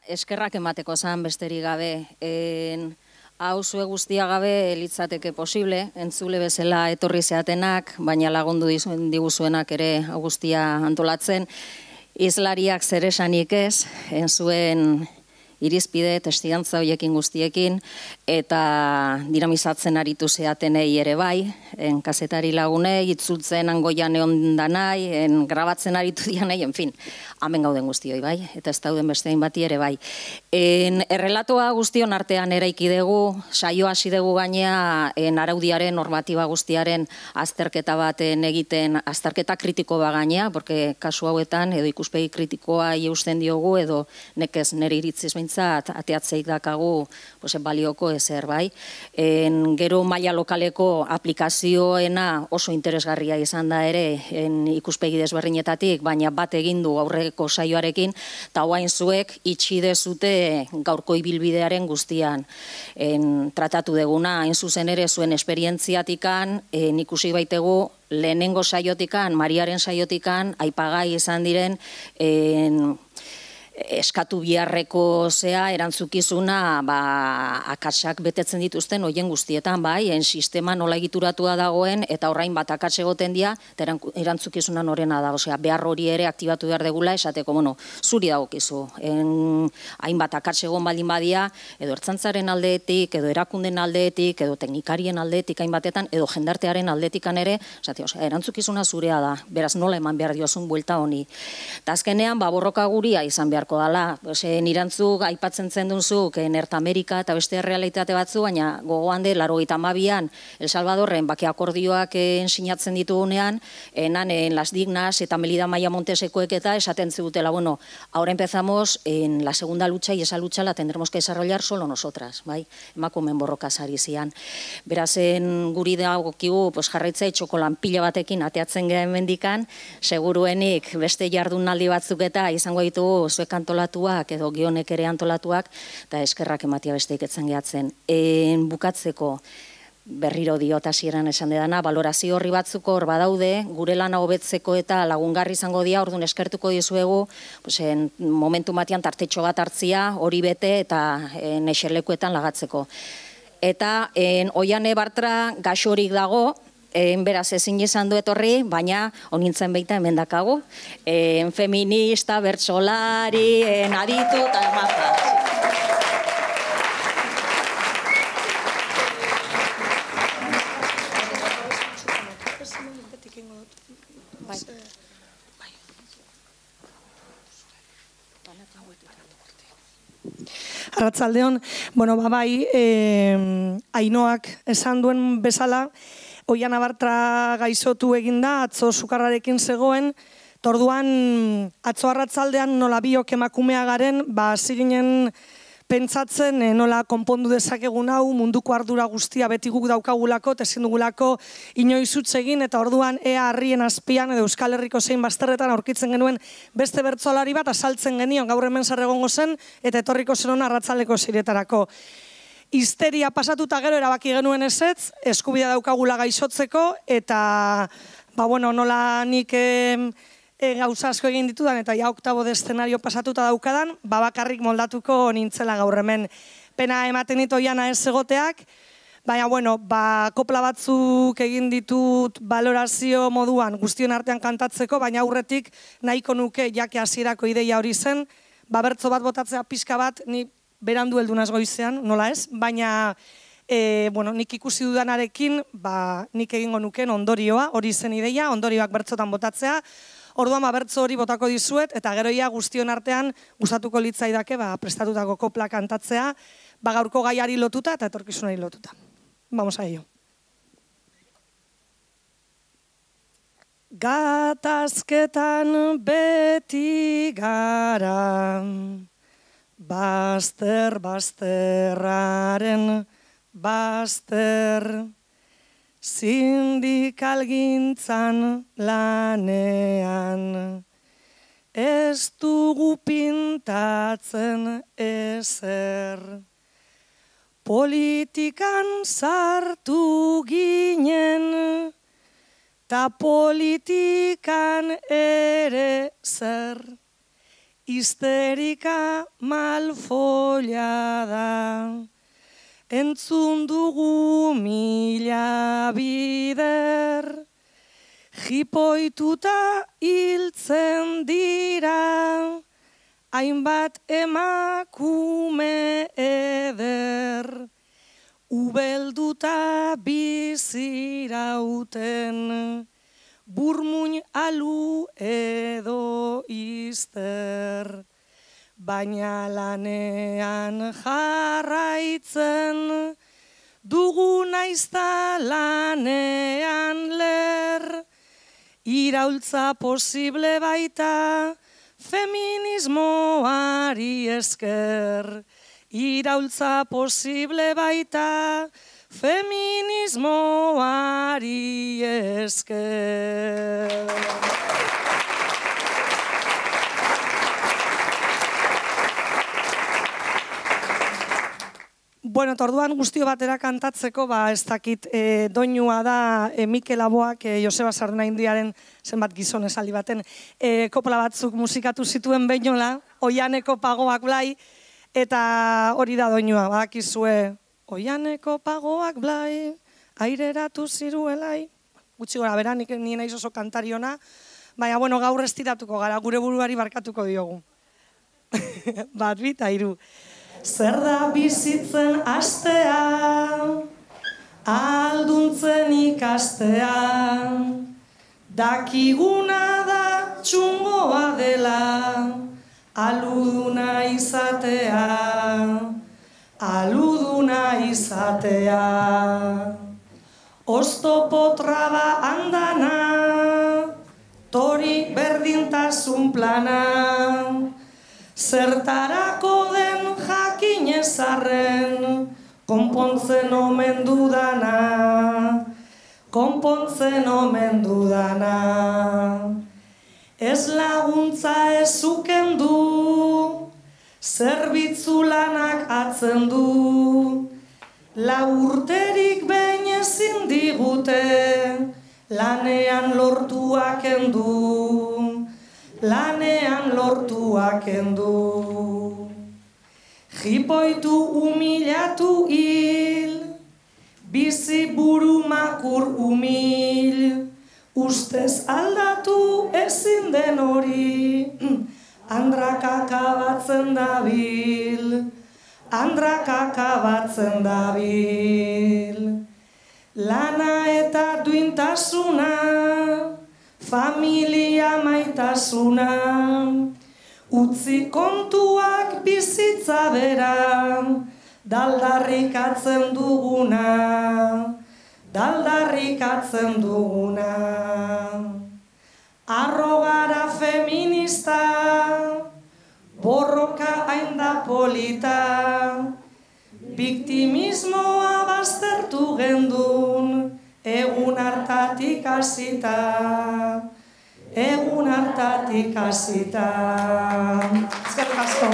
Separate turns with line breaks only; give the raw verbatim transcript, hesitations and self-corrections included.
eskerrak emateko zan besterik gabe. Hau zue guztia gabe litzateke posible, entzule bezala etorri zeatenak, baina lagundu diguzuenak ere guztia antolatzen. Izlariak zer esanik ez, enzuen irizpide, testigantza horiekin guztiekin, eta dinamizatzen aritu zeatenei ere bai, en kazetari lagunei, itzultzen angoian egon danai, en grabatzen aritu dianei, en fin, hemen gauden guztioi bai, eta ez dauden bestein bati ere bai. En errelatoa guztion artean eraiki dugu, saio hasi dugu gainea, en araudiaren, normatiba guztiaren azterketa baten egiten, azterketa kritiko ba gainea, porque kasu hauetan, edo ikuspegi kritikoa eusten diogu, edo nekez nire iritziz behintzat, ateatzeik dakagu, pues, balioko ezer bai. En, gero maila lokaleko aplikazioena oso interesgarria izan da ere, en, ikuspegi desberdinetatik, baina bat egin du aurreko saioarekin, eta hoain zuek itxi dezute gaurko ibilbidearen guztian en, tratatu deguna, hain zuzen ere zuen esperientziatikan, en, ikusi baitegu lehenengo saiotikan, Mariaren saiotikan, aipagai izan diren en, eskatu biharreko zea erantzukizuna ba, akatsak betetzen dituzten hoien guztietan, bai, en sistema nola egituratua dagoen, eta orain bat akats egoten dira, eta erantzukizuna norena da, osea, behar hori ere aktibatu behar degula, esateko, bueno, zuri dagokizu, hainbat akats egon baldin badia, edo ertzantzaren aldeetik, edo erakunden aldeetik, edo teknikarien aldeetik hainbatetan, edo jendartearen aldetikan ere, esate, osea, erantzukizuna zurea da, beraz nola eman behar diozun buelta honi. Eta azkenean, ba, borroka guria izan behar dala. Nirantzuk aipatzen zen dunzuk Norte Amerika eta beste realitate batzu, baina gogoan de laurogeita hamabian El Salvadorren bake akordioak sinatzen ditugunean, enan en Las Dignas eta Melida Maia Montesekoek eta esaten zutela, bueno, ahora empezamos en la segunda lucha y esa lucha la tendremos que desarrollar solo nosotras, bai? Emakumen borroka sari zian. Berazen guri dagokigu, pues jarraitza txokolan pila batekin ateatzen gehen mendikan, seguruenik beste jardunaldi batzuk eta izango ditugu zuek antolatuak edo gionek ere antolatuak, eta eskerrak ematia besteik etzen gehatzen. Bukatzeko berriro diot hasieran esan dedana, balorazio horri batzuko hor badaude, gure lana hobetzeko eta lagungarri izango dira, orduan eskertuko dizuegu, momentu batean tartetxo bat hartzia, hori bete eta eserlekuetan lagatzeko. Eta Oiane Bartra gaxorik dago, beraz ezin izan du etorri, baina honintzen baita hemen dakagu. Feminista, bertsolari, aditu eta maza.
Arratsaldeon, bueno, babai, Ainoak esan duen bezala, Oiane Bartra gaixotu eginda, atzo sukarrarekin zegoen, torduan atzo arratsaldean nola biok emakumea garen, ba ziginen pentsatzen nola konpondu dezakegun hau, munduko ardura guztia beti guk daukagulako, ezin dugulako inoiz utz egin, eta orduan ea harrien azpian edo Euskal Herriko zein bazterretan aurkitzen genuen beste bertsolari bat azaltzen genion, gaur hemen zer egongo zen, eta etorriko zen hona arratsaldeko ziretarako. Histeria pasatuta gero erabaki genuen ezetz, eskubidea daukagula gaixotzeko, eta nola nik gauza asko egin ditudan, eta ja oktabo de eszenario pasatuta daukadan, bakarrik moldatuko nintzela gaur hemen. Pena ematen ditu Oiana ez egoteak, baina, bueno, kopla batzuk egin ditut balorazio moduan guztion artean kantatzeko, baina aurretik nahiko nuke jake hasierako ideia hori zen, bertso bat botatzea pixka bat, ni berandu heldunaz goizean, nola ez, baina nik ikusi dudanarekin nik egingo nuken ondorioa, hori zen ideia, ondorioak bertzotan botatzea, orduan bertzo hori botako dizuet, eta geroia guztion artean gustatuko litzaidake prestatutako kopla kantatzea, gaurko gaiari lotuta eta etorkizunari lotuta. Vamos a ello. Gatazketan beti gara, bazter, bazterraren, bazter, sindikalgintzan lanean, ez dugu pintatzen ezer, politikan sartu ginen, ta politikan ere zer, histerika malfollada. Entzun dugu mila bider, jipoituta hiltzen dira, hainbat emakume eder, ubelduta bizirauten, burmuin alu edo izter. Baina lanean jarraitzen, dugu naizta lanean ler, iraultza posible baita feminismoari esker. Iraultza posible baita feminismoari esker. Bueno, orduan guztio batera kantatzeko, ba, ez dakit, e, doinua da e, Mikel Aboak, e, Joseba Sardenaindiaren zenbat gizon esaldi baten, e, kopla batzuk musikatu zituen beinola, Oianeko pagoak blai, eta hori da doinua, badakizue, Oianeko pagoak blai, aireratu ziruelai, gutxi gora bera, nik nien naiz oso kantariona, baina, bueno, gaur estiratuko gara, gure buruari barkatuko diogu. Bat, bita, hiru. Zer da bizitzen astea, alduntzen ikastea, dakiguna da txungoa dela, aluduna izatea, aluduna izatea. Oztopo traba andana, tori berdintasun plana, zertarako den jakinezarren, konpontzen omen dudana, konpontzen omen dudana. Ez laguntza ez ukendu, zerbitzu lanak atzen du, lau urterik behin ezin digute, lanean lortuak endu, lanean lortuak endu. Jipoitu humilatu hil, bizi buru makur humil, ustez aldatu ezin den hori, andrakaka batzen dabil, andrakaka batzen dabil. Lana eta duintasuna, familia maitasuna, utzi kontuak bizitza bera, daldarrikatzen duguna, daldarrikatzen duguna. Arrogara feminista, borroka hain da polita, biktimismoa baztertu gendun, egun hartatik hasita, egun hartatik hasita. Eskerrik asko.